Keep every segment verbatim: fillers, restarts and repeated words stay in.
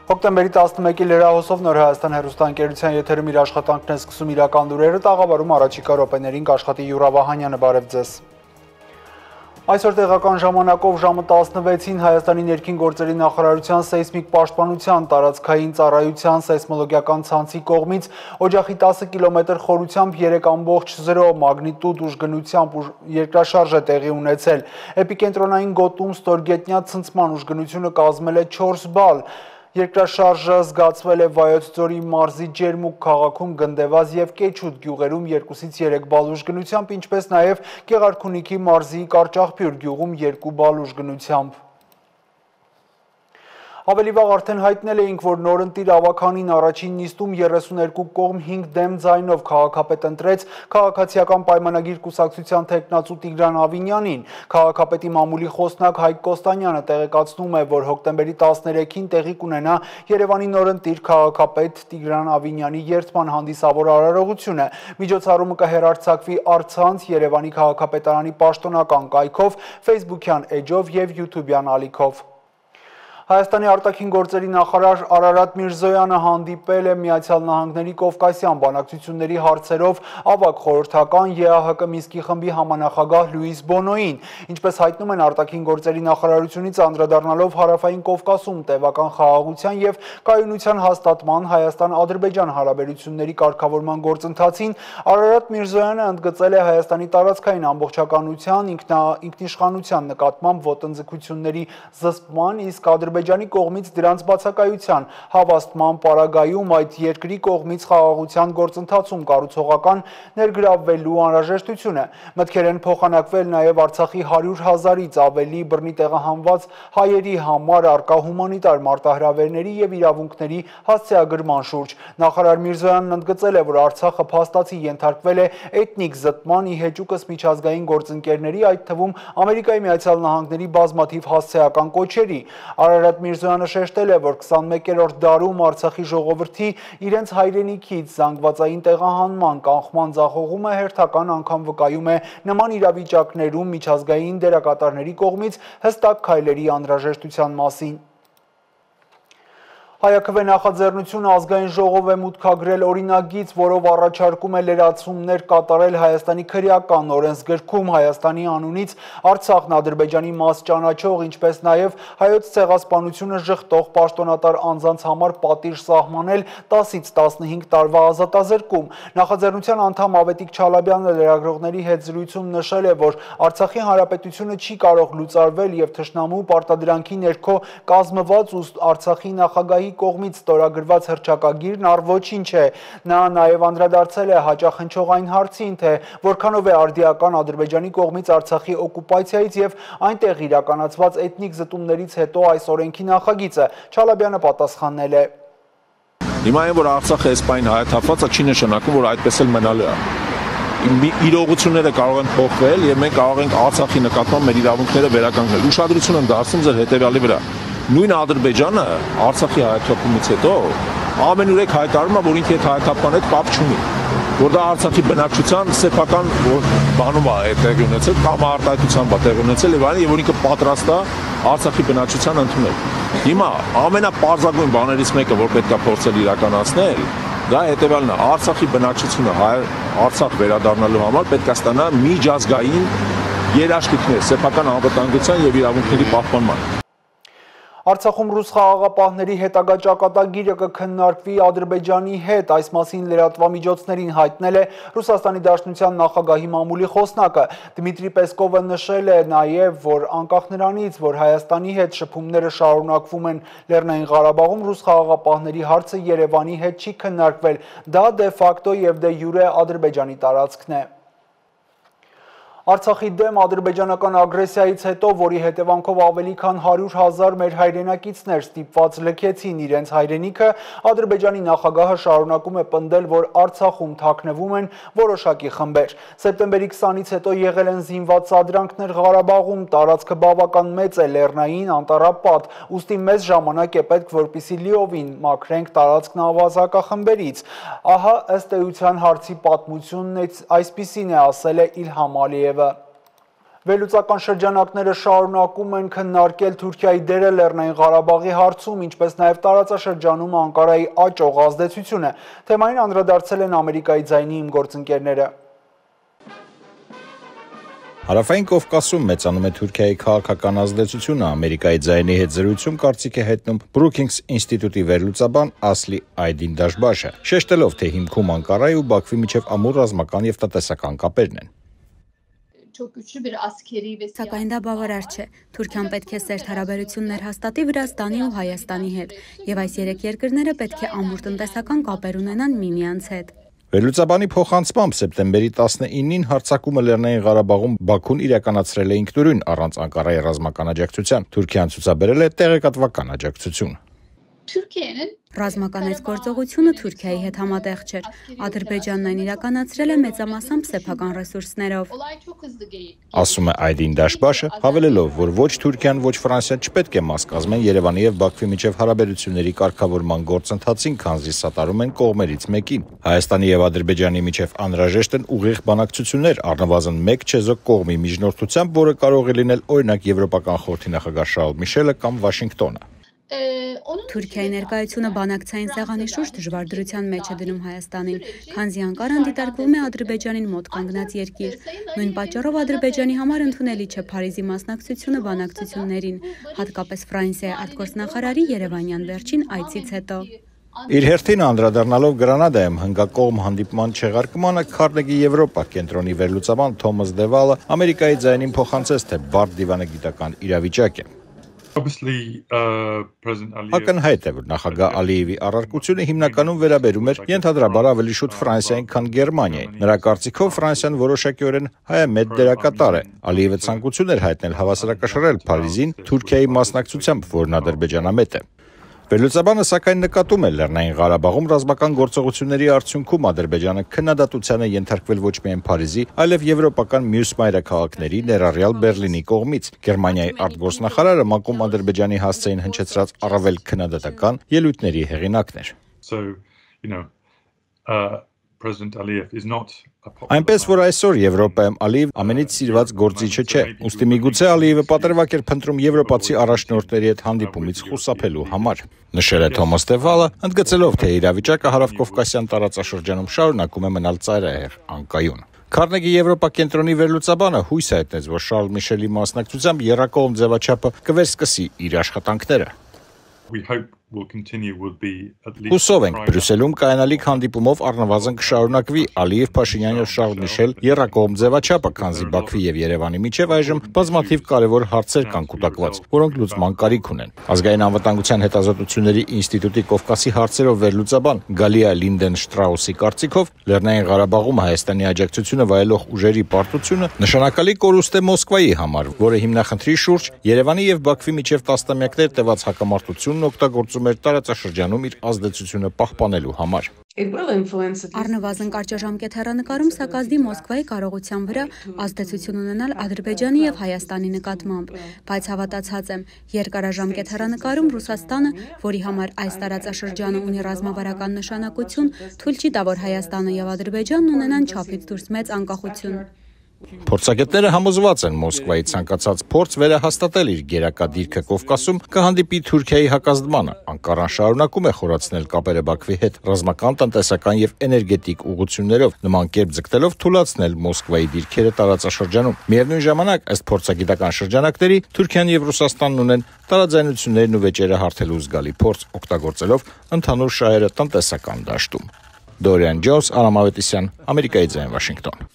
Հոկտեմբերի տասնմեկի լրահոսով Նոր Հայաստան հեռուստաընկերության եթերում իր աշխատանքն է սկսում իրական լուրերը, տաղավարում առաջիկա րոպեներին կաշխատի Յուրա Վահանյանը, բարև ձեզ։ Այսօր տեղական ժամանակով ժամը տասնվեցին Հայաստանի ներքին գործերի նախարարության սեյսմիկ պաշտպանության տարածքային ծառայության սեյսմոլոգիական ցանցի կողմից օջախի տասը կիլոմետր խորությամբ երեք ամբողջ զրո մագնիտուդ ուժգնությամբ երկրաշարժ է տեղի ունեցել։ Էպիկենտրոնային գոտում ստորգետնյա ցնցման ուժգնությունը կազմել է չորս բալ։ Երկրաշարժը զգացվել է Վայոց ձորի մարզի Ջերմուկ քաղաքում, Գնդեվազ և Կեչուտ գյուղերում երկուսից երեք բալ ուժգնությամբ, ինչպես նաև Գեղարքունիքի մարզի Կարճախբյուր գյուղում երկու բալ ուժգնությամբ։ Ավելի վաղ արդեն հայտնել էինք, որ նորընտիր ավականին առաջին նիստում երեսուներկու կողմ հինգ դեմ ձայնով քաղաքապետ ընտրեց քաղաքացիական պայմանագիր կուսակցության թեկնածու Տիգրան Ավինյանին։ Քաղաքապետի մամուլի խոսնակ Հայկ Կոստանյանը տեղեկացնում է, որ հոկտեմբերի տասներեքին տեղի կունենա Երևանի նորընտիր քաղաքապետ Տիգրան Ավինյանի երդման հանդիսավոր արարողությունը։ Միջոցառումը կհեռարձակվի առցանց Երևանի քաղաքապետարանի պաշտոնական կայքով, Facebook-յան էջով և YouTube-յան ալիքով։ Հայաստանի արտաքին գործերի նախարար Արարատ Միրզոյանը հանդիպել է Միացյալ Նահանգների Կովկասյան բանակցությունների հարցերով ավագ խորհրդական ԵԱՀԿ Մինսկի խմբի համանախագահ Լյուիս Բոնոյին։ Ինչպես հայտնում են արտաքին գործերի նախարարությունից, անդրադառնալով Հարավային Կովկասում տևական խաղաղության և կայունության հաստատման Հայաստան-Ադրբեջան հարաբերությունների կարգավորման գործընթացին, Արարատ Միրզոյանը ընդգծել է Հայաստանի տարածքային ամբողջականության, ինքնիշխանության նկատմամբ ոտնձգությունների զսպման, իսկ Ադրբեջանի կողմից դրանց բացակայության հավաստման պարագայում այդ երկրի կողմից խաղաղության գործընթացում կառուցողական ներգրավվելու անհրաժեշտությունը։ Մտքեր են փոխանակվել նաև Արցախի հարյուր հազարից ավելի բռնի տեղահանված հայերի համար առկա հումանիտար մարտահրավերների և իրավունքների հասցեագրման շուրջ։ Նախարար Միրզոյանն ընդգծել է, որ Արցախը փաստացի ենթարկվել է էթնիկ զտման, ի հեճուկս միջազգային գործընկերների, այդ թվում Ամերիկայի Միացյալ Նահանգների բազմաթիվ հասցեական կոչերի։ Արարատ Միրզոյանը շեշտել է, որ քսանմեկերորդ դարում Արցախի ժողովրդի իրենց հայրենիքից զանգվածային տեղահանման կանխման ձախողումը հերթական անգամ վկայում է նման իրավիճակներում միջազգային դերակատարների կողմից հստակ քայլերի անհրաժեշտության մասին։ Հայաքվե նախաձեռնությունը ազգային ժողով է մուտքագրել օրինագիծ, որով առաջարկում է լրացումներ կատարել Հայաստանի քրեական օրենսգրքում Հայաստանի անունից Արցախն Ադրբեջանի մաս ճանաչող, ինչպես նաև հայոց ցեղասպանությունը ժխտող պաշտոնատար անձանց համար պատիժ սահմանել տասից տասնհինգ տարվա ազատազրկում։ Նախաձեռնության անդամ Ավետիք Չալաբյանը լրագրողների հետ զրույցում նշել է, որ Արցախի հանրապետությունը չի կարող լուծարվել և թշնամու պարտադրանքի ներքո կազմված ու Արցախի նախագահի կողմից ստորագրված հռչակագիրն առ ոչինչ է։ Նա նաև անդրադարձել է հաճախնչող այն հարցին, թե որքանով է արդիական Ադրբեջանի կողմից Արցախի օկուպացիայից և այնտեղ իրականացված էթնիկ զտումներից հետո այս օրենքի նախագիծը։ Չալաբյանը պատասխանել է. Հիմա այն, որ Արցախը էսպայն հայաթափված է, չի նշանակում, որ այդպես էլ մնալու է։ Իրողությունները կարող են փոխվել և մենք կարող ենք Արցախի նկատմամբ մեր իրավունքները վերականգնել։ Ուշադրություն եմ դարձնում ձեր հետևյալի վրա։ Նույն Ադրբեջանը Արցախի հայաթափումից հետո ամենուրեք հայտարարում է, որ ինքը այդ հայաթափման հետ կապ չունի, որ դա Արցախի բնակչության սեփական բանում է տեղի ունեցել, կամ արտահայտությամբ է տեղի ունեցել եւ այլն, եւ որ ինքը պատրաստ է Արցախի բնակչության ընդունել։ Հիմա ամենապարզագույն բաներից մեկը, որ պետք է փորձել իրականացնել, դա հետևյալն է. Արցախի բնակչությունը Արցախ վերադառնալու համար պետք է ստանա միջազգային երաշխիքներ սեփական անվտանգության եւ իրավունքների պահպանման։ Արցախում ռուս խաղաղապահների հետագա ճակատագիրը կքննարկվի Ադրբեջանի հետ, այս մասին լրատվամիջոցներին հայտնել է Ռուսաստանի Դաշնության նախագահի մամուլի խոսնակը։ Դմիտրի Պեսկովը նշել է նաև, որ անկախ նրանից, որ Հայաստանի հետ շփումները շարունակվում են Լեռնային Ղարաբաղում, ռուս խաղաղապահների հարցը Երևանի հետ չի քննարկվել, դա դե ֆակտո և դե յուրե Ադրբեջանի տարածքն է։ Արցախի դեմ ադրբեջանական ագրեսիայից հետո, որի հետևանքով ավելի քան հարյուր հազար մեր հայրենակիցներ ստիպված լքեցին իրենց հայրենիքը, Ադրբեջանի նախագահը շարունակում է պնդել, որ Արցախում թաքնվում են որոշակի խմբեր։ Սեպտեմբերի քսանից հետո եղել են զինված սադրանքներ Ղարաբաղում, տարածքը բավական մեծ է, լեռնային, անտառապատ, ուստի մեզ ժամանակ է պետք, որպեսզի լիովին մաքրենք տարածքն ավազակախմբերից։ Ահա ըստ էության հարցի պատմությունն այսպիսին է, ասել է Իլհամ Ալիևը։ Վերլուծական շրջանակները շարունակում են քննարկել Թուրքիայի դերը Լեռնային Ղարաբաղի հարցում, ինչպես նաև տարածաշրջանում Անկարայի աճող ազդեցությունը։ Թեմային անդրադարձել են Ամերիկայի ձայնի իմ գործընկերները։ Հարավային Կովկասում մեծանում է Թուրքիայի քաղաքական ազդեցությունը, Ամերիկայի ձայնի հետ զրույցում կարծիք է հետնում Brookings ինստիտուտի վերլուծաբան Ասլի Այդին Դաշբաշը, շեշտելով, թե հիմքում Անկարայի ու Բաքվի միջև ամուր ռազմական եւ տնտեսական կապերն են։ Սակայն դա բավարար չէ։ Թուրքիան պետք է սերտ հարաբերություններ հաստատի Վրաստանի ու Հայաստանի հետ, եւ այս երեք երկրները պետք է ամուր տնտեսական կապեր ունենան միմյանց հետ։ Վերլուծաբանի փոխանցմամբ սեպտեմբերի տասնինին հարձակումը Լեռնային Ղարաբաղում Բաքուն իրականացրել է ինքնուրույն առանց Անկարայի ռազմական աջակցության։ Թուրքիան ցուցաբերել է տեղեկատվական աջակցություն։ Ռազմական այս գործողությունը Թուրքիայի հետ համատեղ չէր։ Ադրբեջանն այն իրականացրել է մեծամասամբ սեփական ռեսուրսներով։ Ասում է Այդին Դաշբաշը, հավելելով, որ ոչ Թուրքիան, ոչ Ֆրանսիան չպետք է մաս կազմեն Երևանի եւ Բաքվի միջև հարաբերությունների կարգավորման գործընթացին, քանզի սատարում են կողմերից մեկին։ Հայաստանի եւ Ադրբեջանի միջև անհրաժեշտ են ուղիղ բանակցություններ, առնվազն մեկ չեզոք կողմի միջնորդությամբ, որը կարող է լինել օրինակ Եվրոպական խորհրդի նախագահ Շարլ Միշելը կամ Վաշինգտոնը։ Թուրքիայի ներկայությունը բանակցային սեղանի շուրջ դժվար դրության մեջ է դնում Հայաստանին, քանզի Անկարան դիտարկվում է Ադրբեջանին մոտ կանգնած երկիր։ Նույն պատճառով Ադրբեջանի համար ընդունելի չէ Փարիզի մասնակցությունը բանակցություններին, հատկապես Ֆրանսիայի արտգործնախարարի երևանյան վերջին այցից հետո։ Իր հերթին անդրադառնալով Գրանադայում հնգակողմ հանդիպման չեղարկմանը Քարնեգի Եվրոպա կենտրոնի վերլուծաբան Թոմաս Դևալը Ամերիկայի ձայնին փոխանցեց, թե բարդ դիվանագիտական իրավիճակ է։ Ակնհայտ է, որ նախագահ Ալիևի առարկությունը հիմնականում վերաբերում էր ենթադրաբար ավելի շուտ Ֆրանսիային, քան Գերմանիային։ Նրա կարծիքով Ֆրանսիան որոշակիորեն հայամետ դերակատար է։ Ալիևը ցանկություն էր հայտնել հավասարակշռել Փարիզին Թուրքիայի մասնակցությամբ, որն ադրբեջանամետ է։ Վերլուծաբանը սակայն նկատում է Լեռնային Ղարաբաղում ռազմական գործողությունների արդյունքում Ադրբեջանը քննադատության է ենթարկվել ոչ միայն Փարիզի, այլև եվրոպական մյուս մայրաքաղաքների, ներառյալ Բերլինի կողմից։ Գերմանիայի արտգործնախարարը ՄԱԿ-ում Ադրբեջանի հասցեին հնչեցրած առավել քննադատական ելույթների հեղինակն էր։ Այնպես որ այսօր Եվրոպայում Ալիև ամենից սիրված գործիչը չէ, ուստի միգուցե Ալիևը պատրվակ էր փնտրում եվրոպացի առաջնորդների հետ հանդիպումից խուսափելու համար։ Նշել է Թոմաս Դևալը, ընդգծելով, թե իրավիճակը հարավկովկասյան տարածաշրջանում շարունակում է մնալ ծայրահեղ անկայուն։ Քարնեգի Եվրոպա կենտրոնի վերլուծաբանը հույս է հայտնեց, որ Շարլ Միշելի մասնակցությամբ եռակողմ ձևաչափը կվերսկսի իր աշխատանքները։ Հուսով ենք, Բրյուսելում կայանալիք հանդիպումով առնվազն կշարունակվի Ալիև, Փաշինյան եւ Շարլ Միշել եռակողմ ձևաչափը, քանզի Բաքվի եւ Երևանի միջև այժմ բազմաթիվ կարևոր հարցեր կան կուտակված, որոնք լուծման կարիք ունեն։ Ազգային անվտանգության հետազոտությունների ինստիտուտի Կովկասի հարցերով վերլուծաբան Գալիա Լինդենշտրաուսի կարծիքով Լեռնային Ղարաբաղում Հայաստանի աջակցությունը վայելող ուժերի պարտությունը նշանակալի կորուստ է Մոսկվայի համար, որը հիմնախնդրի շուրջ Երևանի եւ Բաքվի միջև տասնամյակներ տևած հակամարտությունն օգտագործում էր տարածաշրջանում իր ազդեցությունը պահպանելու համար։ Առնվազն կարճաժամկետ հեռանկարում սա կազդի Մոսկվայի կարողության վրա ազդեցություն ունենալ Ադրբեջանի եւ Հայաստանի նկատմամբ, բայց հավատացած եմ, երկարաժամկետ հեռանկարում Ռուսաստանը, որի համար այս տարածաշրջանը ունի ռազմավարական նշանակություն, թույլ չի տա, որ Հայաստանը եւ Ադրբեջանն ունենան չափից դուրս մեծ անկախություն։ Փորձագետները համոզված են Մոսկվայի ցանկացած փորձ վերահաստատել իր գերակա դիրքը Կովկասում կհանդիպի Թուրքիայի հակազդմանը։ Անկարան շարունակում է խորացնել կապերը Բաքվի հետ ռազմական, տնտեսական եւ էներգետիկ ուղղություններով, նման կերպ ձգտելով թուլացնել Մոսկվայի դիրքերը տարածաշրջանում։ Միևնույն ժամանակ, ըստ փորձագիտական շրջանակների, Թուրքիան եւ Ռուսաստանն ունեն տարաձայնություններն ու վեճերը հարթելու զգալի փորձ, օգտագործելով ընդհանուր շահերը տնտեսական դաշտում։ Դորիան Ջոնս, Արամ Ավետիսյան, Ամերիկայի ձայն, Վաշինգտոն։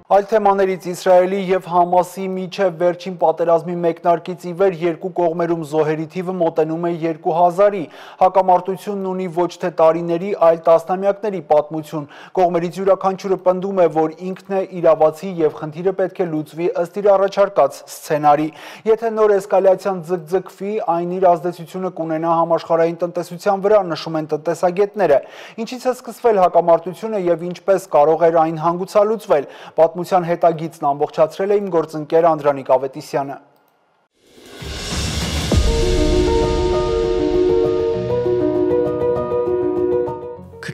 Այլ թեմաներից Իսրայելի եւ Համասի միջև վերջին պատերազմի մեկնարկից ի վեր երկու կողմերում զոհերի թիվը մոտենում է երկու հազարի։ Հակամարտությունն ունի ոչ թե տարիների, այլ տասնամյակների պատմություն։ Կողմերից յուրաքանչյուրը պնդում է, որ ինքն է իրավացի եւ խնդիրը պետք է լուծվի ըստ իր առաջարկած սցենարի։ Եթե նոր էսկալացիան ձգձգվի, այն իր ազդեցությունը կունենա համաշխարհային տնտեսության վրա, նշում են տնտեսագետները։ Ինչից է սկսվել հակամարտությունը եւ ինչպես կարող էր այն հանգուցալուծվել։ Պատմության հետագիծն ամբողջացրել է իմ գործընկեր Անդրանիկ Ավետիսյանը։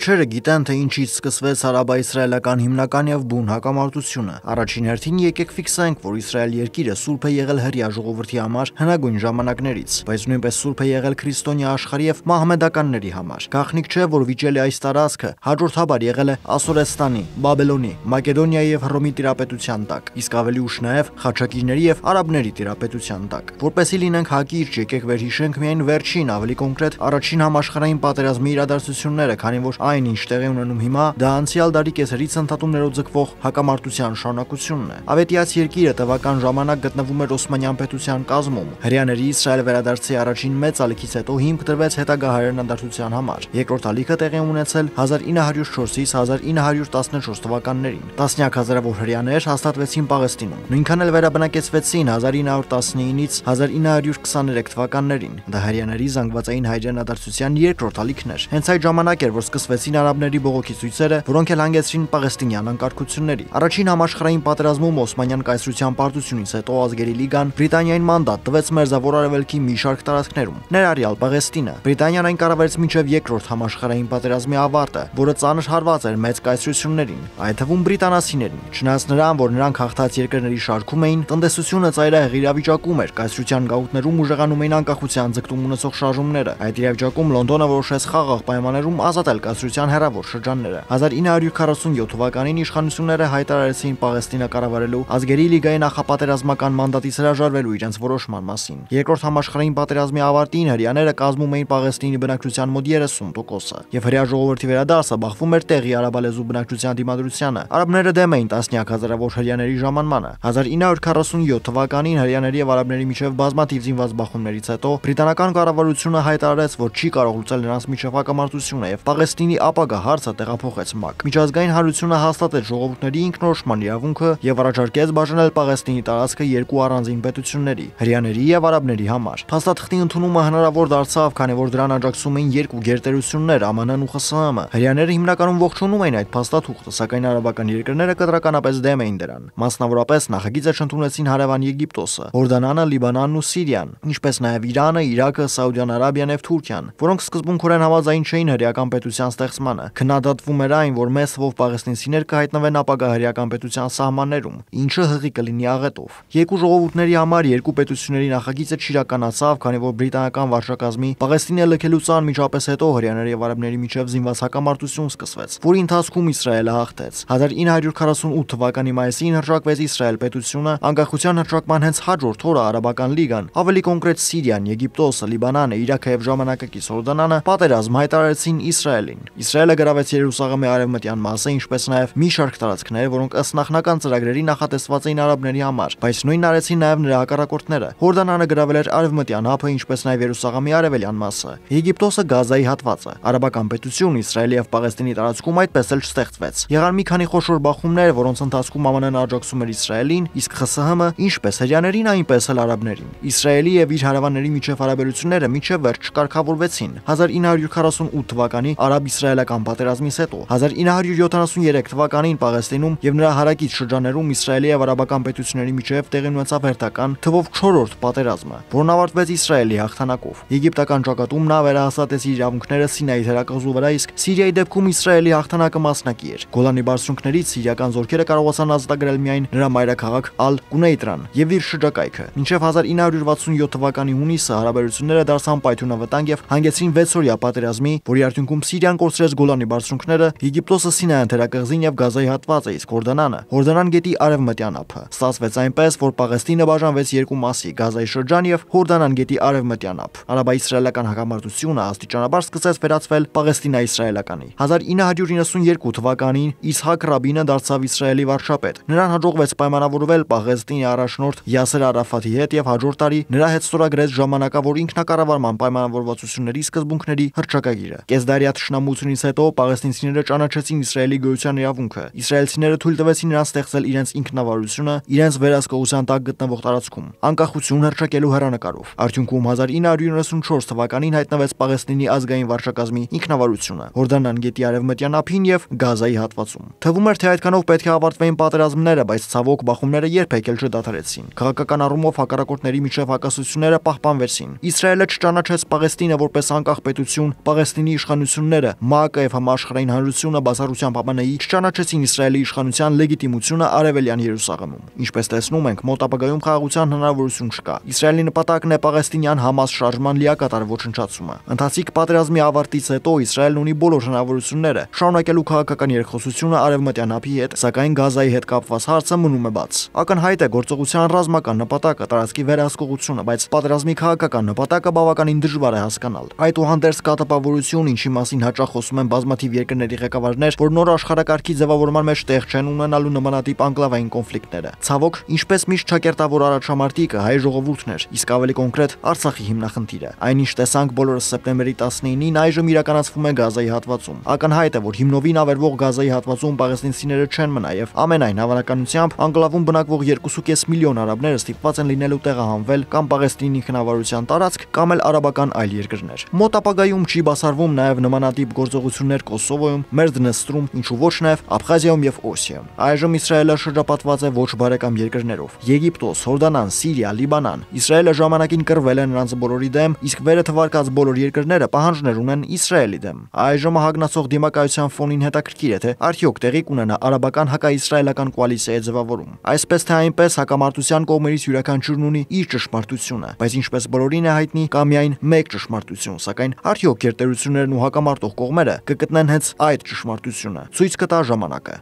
քչերը գիտեն, թե ինչից սկսվեց արաբա-իսրայելական հիմնական եւ բուն հակամարտությունը։ Առաջին հերթին եկեք ֆիքսենք, որ Իսրայել երկիրը սուրբ է եղել հրեա ժողովրդի համար հնագույն ժամանակներից, բայց նույնպես սուրբ է եղել քրիստոնյա աշխարհի եւ մահմեդականների համար։ Գաղտնիք չէ, որ վիճելի այս տարածքը հաջորդաբար եղել է Ասորեստանի, Բաբելոնի, Մակեդոնիայի եւ Հռոմի տիրապետության տակ, իսկ ավելի ուշ նաեւ խաչակիրների եւ արաբների տիրապետության տակ։ Որպեսզի լինենք հակիրճ, եկեք վերհիշենք միայն վերջին, ավելի կոնկրետ առաջին համաշխարհային պատերազմի իրադարձությունները, քանի որ այն, ինչ տեղի ունենում հիմա, դա անցյալ դարի կեսերից ընդհատումներով ձգվող հակամարտության շարունակությունն է։ Ավետիաց երկիրը տևական ժամանակ գտնվում էր Օսմանյան պետության կազմում։ Հրեաների Իսրայել վերադարձի առաջին մեծ ալիքից հետո հիմք դրվեց հետագա հայրենադարձության համար։ Երկրորդ ալիքը տեղի ունեցել հազար ինը հարյուր չորսից հազար ինը հարյուր տասնչորս թվականներին։ Տասնյակ հազարավոր հրեաներ հաստատվեցին Պաղեստինում։ Նույնքան էլ վերաբնակեցվեցին հազար ինը հարյուր տասնինից հազար ինը հարյուր քսաներեք թվականներին։ Դա հրեաների զանգվածային հայրենադարձության երկրորդ ալիքն էր։ Հենց այդ ժամանակ էր, որ սկսվեցին արաբների բողոքի ցույցերը, որոնք էլ հանգեցրին պաղեստինյան անկարգությունների։ Առաջին համաշխարհային պատերազմում Օսմանյան կայսրության պարտությունից հետո ազգերի լիգան Բրիտանիային մանդատ տվեց Մերձավոր Արևելքի մի շարք տարածքներում, ներառյալ Պաղեստինը։ Բրիտանիան այն կառավարեց մինչև երկրորդ համաշխարհային պատերազմի ավարտը, որը ծանր հարված էր մեծ կայսրություններին, այդ թվում բրիտանացիներին։ Չնայած նրան, որ նրանք հաղթած երկրների շարքում էին, տնտեսությունը ծայրահեղ իրավիճակում էր, կայսրության գաղութներում ուժեղանում էին անկախության ձգտում ունեցող շարժումները։ Այդ իրավիճակում Լոնդոնը որոշեց խաղաղ պայմաններում ազատել կայսրության հեռավոր շրջանները։ հազար ինը հարյուր քառասունյոթ թվականին իշխանությունները հայտարարեցին Պաղեստինը կառավարելու ազգերի լիգայի նախապատերազմական մանդատից հրաժարվելու իրենց որոշման մասին։ Երկրորդ համաշխարհային պատերազմի ավարտին հրեաները կազմում էին Պաղեստինի բնակչության մոտ երեսուն տոկոսը, եւ հրեա ժողովրդի վերադարձը բախվում էր տեղի արաբալեզու բնակչության դիմադրությանը։ Արաբները դեմ էին տասնյակ հազարավոր հրեաների ժամանմանը։ հազար ինը հարյուր քառասունյոթ թվականին հրեաների եւ արաբների միջև բազմաթիվ զինված բախումներից հետո բրիտանական կառավարությունը հայտարարեց, որ չի կարող լուծել նրանց միջև հակամարտությունը եւ Պաղեստինի ապագա հարցը տեղափոխեց ՄԱԿ։ Միջազգային հանրությունը հաստատեց ժողովուրդների ինքնորոշման իրավունքը եւ առաջարկեց բաժանել Պաղեստինի տարածքը երկու առանձին պետությունների՝ հրեաների եւ արաբների համար։ Փաստաթղթի ընդունումը հնարավոր դարձավ, քանի որ դրան աջակցում էին երկու գերտերություններ՝ ԱՄՆ-ն ու ԽՍՀՄ։ Հրեաները հիմնականում ողջունում էին այդ փաստաթուղթը, սակայն արաբական երկրները կտրականապես դեմ էին դրան։ Մասնավորապես նախագիծը չընդունեցին հարևան Եգիպտոսը, Հորդանանը, Լիբանանն ու Սիրիան, ինչպես նաեւ Իրանը, Իրաքը, Սաուդյան Արաբիան եւ Թուրքիան, որոնք սկզբունքորեն համաձայն չէին հրեական պետության ստեղծմանը։ Քննադատվում էր այն, որ մեծ թվով պաղեստինցիներ կհայտնվեն ապագա հրեական պետության սահմաններում, ինչը հղի կլինի աղետով։ Երկու ժողովուրդների համար երկու պետությունների նախագիծը չիրականացավ, քանի որ բրիտանական վարչակազմի Պաղեստինը լքելուց անմիջապես հետո հրեաների եւ արաբների միջև զինված հակամարտություն սկսվեց, որի ընթացքում Իսրայելը հաղթեց։ հազար ինը հարյուր քառասունութ թվականի մայիսին հռչակվեց Իսրայել պետությունը, անկախության հռչակման հենց հաջորդ օրը արաբական լիգան, ավելի կոնկրետ Սիրիան, Եգիպտոսը, Լիբանանը, Իրաքը եւ ժամանակակից Հորդանանը պատերազմ հայտարարեցին Իսրայելին։ Իսրայելը գրավեց Երուսաղեմի արևմտյան մասը, ինչպես նաեւ մի շարք տարածքներ, որոնք ըստ նախնական ծրագրերի նախատեսված էին արաբների համար, բայց նույնն արեցին նաեւ նրա հակառակորդները։ Հորդանանը գրավել էր արևմտյան ափը, ինչպես նաեւ Երուսաղեմի արևելյան մասը։ Եգիպտոսը Գազայի հատվածը։ Արաբական պետություն Իսրայելի եւ Պաղեստինի տարածքում այդպես էլ չստեղծվեց։ Եղան մի քանի խոշոր բախումներ, որոնց ընթացքում ԱՄՆ-ն աջակցում էր Իսրայելին, իսկ ԽՍՀՄ ինչպես հրեաներին, այնպես էլ արաբներին։ Իսրայելի եւ իր հարևանների միջև հարաբերությունները մինչև վերջ չկարգավորվեցին։ հազար ինը հարյուր քառասունութ թվականի արաբ-իսրայելական պատերազմից հետո, հազար ինը հարյուր յոթանասուներեք թվականին Պաղեստինում եւ նրա հարակից շրջաններում Իսրայելի եւ արաբական պետությունների միջև տեղի ունեցավ հերթական թվով չորրորդ պատերազմը, որն ավարտվեց Իսրայելի հաղթանակով։ Եգիպտական ճակատում նա վերահաստատեց իր իրավունքները Սինայի թերակղզու վրա, իսկ Սիրիայի դեպքում Իսրայելի հաղթանակը մասնակի էր։ Գոլանի բարձունքներից սիրիական զորքերը կարողացան ազատագրել միայն նրա մայրաքաղաք Ալ-Կունեյտրան եւ իր շրջակայքը։ Մինչև հազար ինը հարյուր վաթսունյոթ թվականի հունիսը հարաբերությունները դարձան պայթյունավտանգ եւ հանգեցրին վեցօրյա պատերազմի, որի արդյունքում Սիրիան կորցրեց Գոլանի բարձունքները, Եգիպտոսը Սինայական թերակղզին եւ Գազայի հատվածը, իսկ Հորդանանը Հորդանան գետի արևմտյան ափը։ Ստացվեց այնպես, որ Պաղեստինը բաժանվեց երկու մասի՝ Գազայի շրջան եւ Հորդանան գետի արևմտյան ափ։ Արաբա-իսրայելական հակամարտությունը աստիճանաբար սկսեց վերածվել պաղեստինա-իսրայելականի։ հազար ինը հարյուր իննսունյերկու թվականին Իսհակ Ռաբինը դարձավ Իսրայելի վարչապետ։ Նրան հաջողվեց պայմանավորվել Պաղեստինի առաջնորդ Յասեր Արաֆաթի հետ եւ հաջորդ տարի նրա հետ ստորագրեց ժամանակավոր ինքնակառավարման պայմանավորվածությունների սկզբունքների հռչակագիրը։ Կեսդարյա թշնամությունից հետո պաղեստինցիները ճանաչեցին Իսրայելի գոյության իրավունքը։ Իսրայելցիները թույլ տվեցին նրանց ստեղծել իրենց ինքնավարությունը իրենց վերահսկողության տակ գտնվող տարածքում, անկախություն հռչակելու հեռանկարով։ Արդյունքում հազար ինը հարյուր իննսունչորս թվականին հայտնվեց Պաղեստինի ազգային վարչակազմի ինքնավարությունը Հորդանան գետի արևմտյան ափին եւ Գազայի հատվածում։ Թվում էր, թե այդքանով պետք է ավարտվեին պատերազմները, բայց ցավոք բախումները երբեք էլ չդադարեցին։ Քաղաքական առումով հակառակորդների միջև հակասությունները պահպանվեցին։ Իսրայելը չճանաչեց Պաղեստինը որպես անկախ պետություն, Պաղեստինի իշխանությունները ՄԱԿ-ը եւ համաշխարհային հանրությունը բացառությամբ Ա Բ Ն-ի չճանաչեցին Իսրայելի իշխանության լեգիտիմությունը Արևելյան Երուսաղեմում։ Ինչպես տեսնում ենք, մոտ ապագայում խաղաղության հնարավորություն չկա։ Իսրայելի նպատակն է Պաղեստինյան Համաս շարժման լիակատար ոչնչացումը։ Ընթացիկ պատերազմի ավարտից հետո Իսրայելն ունի բոլոր հնարավորությունները շարունակելու քաղաքական երկխոսությունը Արևմտյան ափի հետ, սակայն Գազայի հետ կապված հարցը մնում է բաց։ Ակնհայտ է գործողության ռազմական նպատակը տարածքի վերահսկողությունը, բայց պատերազմի քաղաքական նպատակը բավականին դժվար է հասկանալ։ Այդուհանդերձ կա տպավորություն, ինչի մասին հաճախ խոսում են բազմաթիվ երկրների ղեկավարներ, որ նոր աշխարհակարգի ձևավորման մեջ տեղ չեն ունենալու նմանատիպ անկլավային կոնֆլիկտները։ Ցավոք, ինչպես միշտ ճակերտավոր առաջամարտիկը հայ ժողովուրդն էր, իսկ ավելի կոնկրետ Արցախի հիմնախնդիրը։ Այնինչ տեսանք բոլորս սեպտեմբերի տասնինին, այժմ իրականացվում է Գազայի հատվածում։ Ակնհայտ է, որ հիմնովին ավերվող Գազայի հատվածում պաղեստինցիները չեն մնա եւ ամենայն հավանականությամբ անկլավում բնակվող երկու կես միլիոն արաբները ստիպված են լինելու տեղահանվել կամ Պաղեստինի ինքնավարության տարածք կամ էլ արաբական այլ երկրներ։ Մոտ ապագայում չի բացառվում նաեւ նմանատիպ գործողություններ Կոսովոյում, Մերդնեստրում, ինչու ոչ նաեւ Աբխազիայում եւ Օսիայում։ Այժմ Իսրայելը շրջապատված է ոչ բարեկամ երկրներով՝ Եգիպտոս, Հորդանան, Սիրիա, Լիբանան։ Իսրայելը ժամանակին կռվել է նրանց բոլորի դեմ, իսկ վերը թվարկած բոլոր երկրները պահանջներ ունեն Իսրայելի դեմ։ Այժմ հագնացող դիմակայության ֆոնին հետաքրքիր է, թե արդյոք տեղի կունենա արաբական հակաիսրայելական կոալիցիայի ձևավորում։ Այսպես թե այնպես հակամարտության կողմերից յուրաքանչյուրն ունի իր ճշմարտությունը, բայց ինչպես բոլորին է հայտնի, կա միայն մեկ ճշմարտություն, սակայն արդյոք գերտերություններն ու հակամարտող կողմերը կգտնեն հենց այդ ճշմարտությունը։ Ցույց կտա ժամանակը։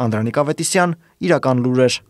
Անդրանիկ Ավետիսյան, Իրական լուրեր։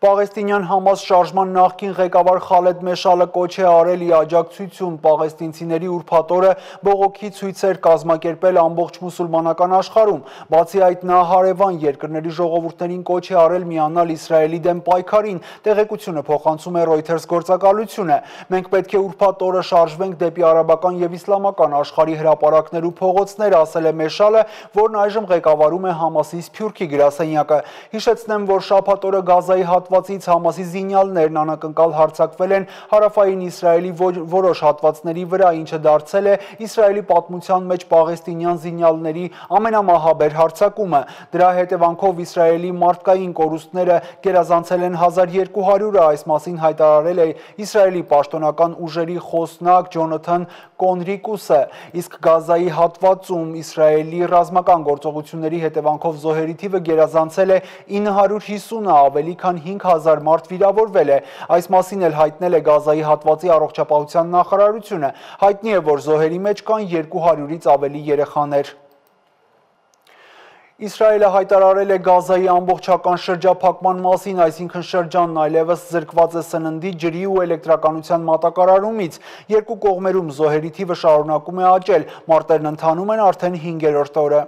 Պաղեստինյան Համաս շարժման նախկին ղեկավար Խալեդ Մեշալը կոչ է արել ի աջակցություն պաղեստինցիների ուրբաթ օրը բողոքի ցույցեր կազմակերպել ամբողջ մուսուլմանական աշխարհում։ Բացի այդ, նա հարևան երկրների ժողովուրդներին կոչ է արել միանալ Իսրայելի դեմ պայքարին։ Տեղեկությունը փոխանցում է Reuters գործակալությունը։ Մենք պետք է ուրբաթ օրը շարժվենք դեպի արաբական եւ իսլամական աշխարհի հրապարակներ ու փողոցներ, ասել է Մեշալը, որն այժմ ղեկավարում է Համասի Սփյուռքի գրասենյակը։ Հիշեցնեմ, որ շաբաթ օրը Գազայի հատվածից Համասի զինյալներն անակնկալ հարձակվել են հարավային Իսրայելի որոշ հատվածների վրա, ինչը դարձել է Իսրայելի պատմության մեջ պաղեստինյան զինյալների ամենամահաբեր հարձակումը։ Դրա հետևանքով Իսրայելի մարդկային կորուստները գերազանցել են հազար երկու հարյուրը, այս մասին հայտարարել է Իսրայելի պաշտոնական ուժերի խոսնակ Ջոնաթան Կոնրիկուսը, իսկ Գազայի հատվածում Իսրայելի ռազմական գործողությունների հետևանքով զոհերի թիվը գերազանցել է ինը հարյուր հիսունը, ավելի քան հինգ հազար մարդ վիրավորվել է։ Այս մասին էլ հայտնել է Գազայի հատվածի առողջապահության նախարարությունը։ Հայտնի է, որ զոհերի մեջ կան երկու հարյուրից ավելի երեխաներ։ Իսրայելը հայտարարել է Գազայի ամբողջական շրջափակման մասին, այսինքն շրջանն այլևս զրկված է սննդի, ջրի ու էլեկտրականության մատակարարումից։ Երկու կողմերում զոհերի թիվը շարունակում է աճել, մարտերն ընթանում են արդեն հինգերորդ օրը։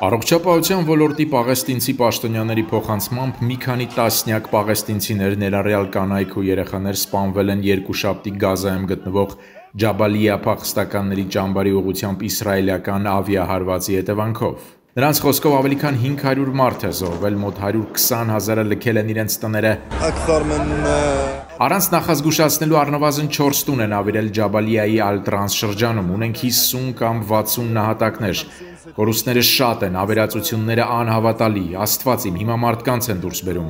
Առողջապահության ոլորտի պաղեստինցի պաշտոնյաների փոխանցմամբ մի քանի տասնյակ պաղեստինցիներ, ներառյալ կանայք ու երեխաներ սպանվել են երկուշաբթի Գազայում գտնվող Ջաբալիա փախստականների ճամբարի ուղղությամբ իսրայելական ավիահարվածի հետևանքով։ Նրանց խոսքով ավելի քան հինգ հարյուր մարդ է զոհվել, մոտ հարյուր քսան հազարը լքել են իրենց տները։ Առանց նախազգուշացնելու առնվազն չորս տուն են ավիրել Ջաբալիայի Ալ-Տրանս շրջանում, ունենք հիսուն կամ վաթսուն նահատակներ։ Կորուստները շատ են, ավերածությունները անհավատալի, Աստված իմ, հիմա մարդկանց են դուրս բերում։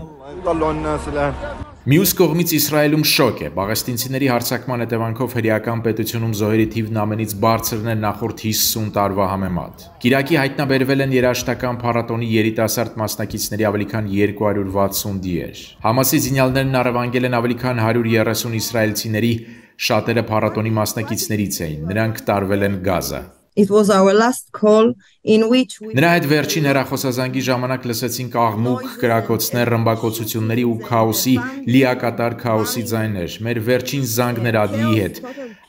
Մյուս կողմից Իսրայելում շոկ է, պաղեստինցիների հարձակման հետևանքով հրեական պետությունում զոհերի թիվն ամենից բարձրն է նախորդ հիսուն տարվա համեմատ։ Կիրակի հայտնաբերվել են երաժշտական փառատոնի երիտասարդ մասնակիցների ավելի քան երկու հարյուր վաթսուն դիեր։ Համասի զինյալներն առևանգել են ավելի քան հարյուր երեսուն իսրայելցիների, շատերը փառատոնի մասնակիցներից էին, նրանք տարվել են Գազա։ It was our last call in which we Նրա հետ վերջին հեռախոսազանգի ժամանակ լսեցինք աղմուկ, կրակոցներ, ռմբակոծությունների ու քաոսի, լիակատար քաոսի ձայներ։ Մեր վերջին զանգն էր Ադիի հետ։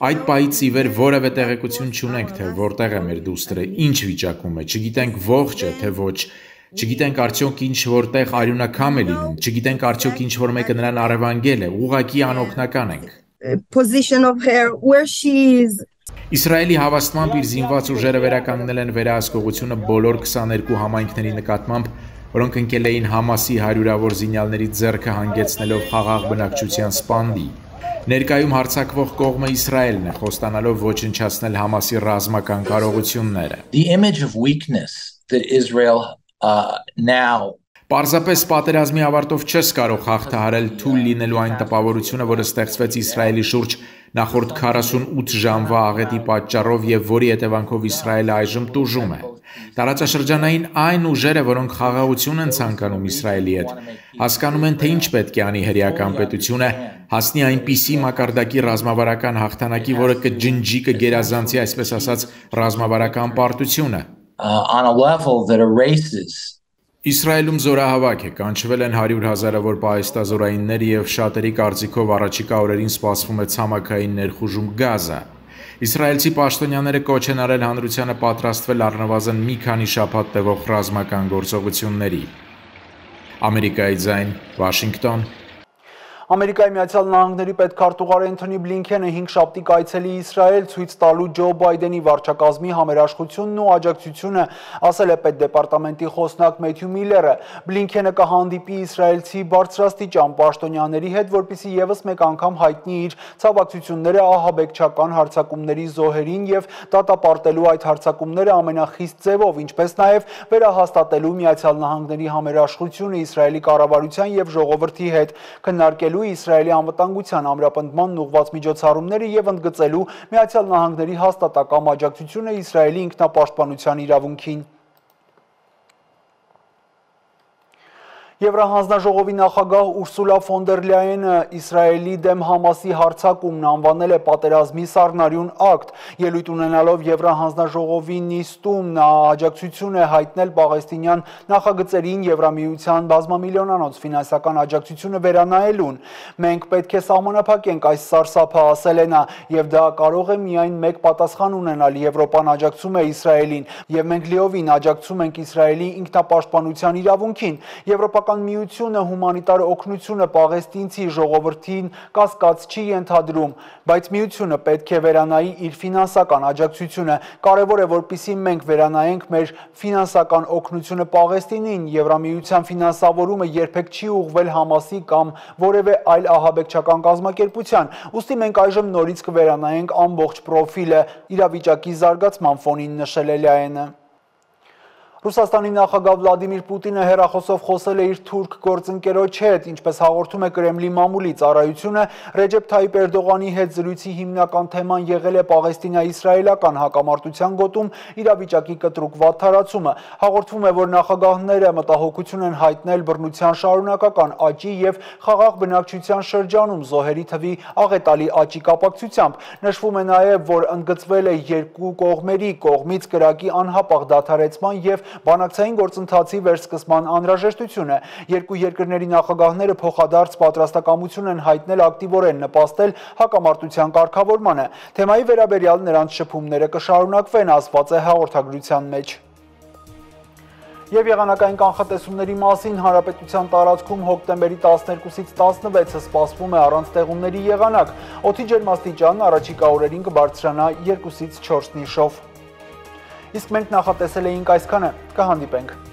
Այդ պահից ի վեր որևէ տեղեկություն չունենք, թե որտեղ է մեր դուստրը, ինչ վիճակում է, չգիտենք ողջ է, թե ոչ։ Չգիտենք արդյոք ինչ որտեղ արյունակամ է լինում, չգիտենք արդյոք ինչ որ մեկը նրան առևանգել է, ուղղակի անօգնական ենք։ position of her where she is. Իսրայելի հավաստմամբ իր զինված ուժերը վերականգնել են վերահսկողությունը բոլոր քսաներկու համայնքների նկատմամբ, որոնք ընկել էին Համասի հարյուրավոր զինյալների ձեռքը հանգեցնելով խաղաղ բնակչության սպանդի։ Ներկայում հարձակվող կողմը Իսրայելն է, խոստանալով ոչնչացնել Համասի ռազմական կարողությունները։ The image of weakness that Israel uh, now Պարզապես պատերազմի ավարտով չես կարող հաղթահարել թույլ լինելու այն տպավորությունը, որը ստեղծվեց Իսրայելի շուրջ նախորդ քառասունութ ժամվա աղետի պատճառով եւ որի հետևանքով Իսրայելը այժմ տուժում է։ Տարածաշրջանային այն ուժերը, որոնք խաղաղություն են ցանկանում Իսրայելի հետ, հասկանում են, թե ինչ պետք է անի հրեական պետությունը, հասնի այնպիսի մակարդակի ռազմավարական հաղթանակի, որը կջնջի, կգերազանցի, այսպես ասած, ռազմավարական պարտությունը։ Իսրայելում զորահավաք է, կանչվել են հարյուր հազարավոր պահեստազորայիններ եւ շատերի կարծիքով առաջիկա օրերին սպասվում է ցամաքային ներխուժում Գազա։ Իսրայելցի պաշտոնյաները կոչ են արել հանրությանը պատրաստվել առնվազն մի քանի շաբաթ տևող ռազմական գործողությունների։ Ամերիկայի ձայն, Վաշինգտոն։ Ամերիկայի Միացյալ Նահանգների պետքարտուղար Էնթոնի Բլինքենը հինգշաբթի կայցելի Իսրայել ցույց տալու Ջո Բայդենի վարչակազմի համերաշխությունն ու աջակցությունը, ասել է պետդեպարտամենտի խոսնակ Մեթյու Միլլերը։ Բլինքենը կհանդիպի իսրայելցի բարձրաստիճան պաշտոնյաների հետ, որպեսզի ևս մեկ անգամ հայտնի իր ցավակցությունները ահաբեկչական հարձակումների զոհերին եւ դատապարտելու այդ հարձակումները ամենախիստ ձևով, ինչպես նաեւ վերահաստատելու Միացյալ Նահանգների համերաշխությունը Իսրայելի կառավարության եւ ժողովրդի հետ, քննարկելու Իսրայելի անվտանգության ամրապնդման ուղղված միջոցառումները եւ ընդգծելու Միացյալ Նահանգների հաստատակամ աջակցությունը Իսրայելի ինքնապաշտպանության իրավունքին։ Եվրահանձնաժողովի նախագահ Ուրսուլա ֆոն դեր Լյայենը Իսրայելի դեմ Համասի հարձակումն անվանել է պատերազմի սառնարյուն ակտ, ելույթ ունենալով Եվրահանձնաժողովի նիստում նա աջակցություն է հայտնել պաղեստինյան նախագծերին Եվրամիության բազմամիլիոնանոց ֆինանսական աջակցությունը վերանայելուն։ Մենք պետք է սահմանափակենք այս սարսափը, ասել է նա, եւ դա կարող է միայն մեկ պատասխան ունենալ՝ Եվրոպան աջակցում է Իսրայելին, եւ մենք լիովին աջակցում ենք Իսրայելի ինքնապաշտպանության իրավունքին։ Եվրոպական Միությունը հումանիտար օգնությունը պաղեստինցի ժողովրդին կասկած չի ենթադրում, բայց միությունը պետք է վերանայի իր ֆինանսական աջակցությունը։ Կարևոր է, որպեսզի մենք վերանայենք մեր ֆինանսական օգնությունը Պաղեստինին։ Եվրամիության ֆինանսավորումը երբեք չի ուղղվել Համասի կամ որևէ այլ ահաբեկչական կազմակերպության։ Ուստի մենք այժմ նորից կվերանայենք ամբողջ պրոֆիլը, իրավիճակի զարգացման ֆոնին, նշել է Լյայենը։ Ռուսաստանի նախագահ Վլադիմիր Պուտինը հեռախոսով խոսել է իր թուրք գործընկերոջ հետ, ինչպես հաղորդում է Կրեմլի մամուլի ծառայությունը, Ռեջեփ Թայիպ Էրդողանի հետ զրույցի հիմնական թեման եղել է պաղեստինա-իսրայելական հակամարտության գոտում իրավիճակի կտրուկ վատթարացումը։ Հաղորդվում է, որ նախագահները մտահոգություն են հայտնել բռնության շարունակական աճի եւ խաղաղ բնակչության շրջանում զոհերի թվի աղետալի աճի կապակցությամբ։ Նշվում է նաեւ, որ ընդգծվել է երկու կողմերի կողմից կրակի անհապաղ դադարեցման եւ բանակցային գործընթացի վերսկսման անհրաժեշտությունը։ Երկու երկրների նախագահները փոխադարձ պատրաստակամություն են հայտնել ակտիվորեն նպաստել հակամարտության կարգավորմանը։ Թեմայի վերաբերյալ նրանց շփումները կշարունակվեն, ասված է հաղորդագրության մեջ։ Եվ եղանակային կանխատեսումների մասին հանրապետության տարածքում հոկտեմբերի տասներկուսից տասնվեցը սպասվում է առանց տեղումների եղանակ։ Օդի ջերմաստիճանն առաջիկա օրերին կբարձրանա երկուսից չորս նիշով։ Իսկ մենք նախատեսել էինք այսքանը, կհանդիպենք։